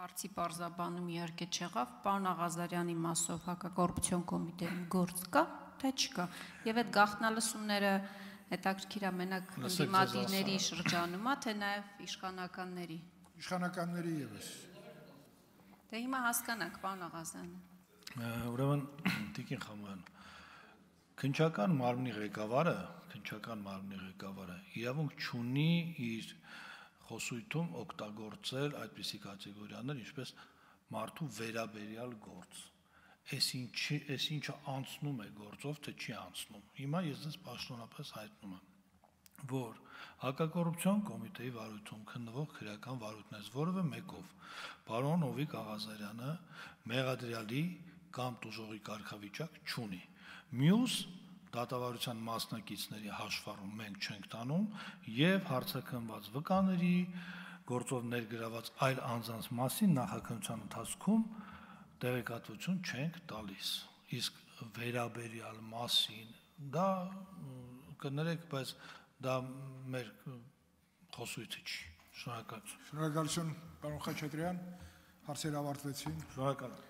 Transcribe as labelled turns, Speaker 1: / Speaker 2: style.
Speaker 1: Հարցի պարզաբանում իհարկե չեղավ, պարոն Աղազարյանի մասով հակակոռուպցիոն կոմիտեում գործ կա, թե չկա, եւ այդ գաղտնալսումները հետաքրքիր է մենակ ընդդիմադիրների շրջանում է, թե նաեւ իշխանականների։
Speaker 2: Իշխանականների եւս։
Speaker 1: Դե հիմա հասկանանք, պարոն Աղազարյան։
Speaker 3: Ուրեմն Տիկին Խամանյան, քննչական մարմնի ղեկավարը իրավունք չունի իր խոսույթում օգտագործել այդպիսի կատեգորիաներ, ինչպես մարդու վերաբերյալ գործ։ Այս ինչը անցնում է գործով, թե չի անցնում։ Հիմա ես ձեզ պաշտոնապես հայտնում եմ, որ հակակոռուպցիոն կոմիտեի վարույթում քննվող քրեական վարույթներից որևէ մեկով պարոն Հովիկ Աղազարյանը մեղադրյալի կամ տուժողի կարգավիճակ չունի։ Մյուս դատավարության մասնակիցների հաշվառում մենք չենք տանում եւ հարցաքննված վկաների գործով ներգրաված այլ անձանց մասին նախաքննության ընթացքում տեղեկատվություն չենք տալիս։ Իսկ վերաբերյալ մասին դա կներեք, բայց դա մեր խոսույթը չի։ Շնորհակալություն։
Speaker 2: Շնորհակալություն, պարոն Խաչատրյան, հարցերը ավարտվեցին։
Speaker 3: Շնորհակալ եմ։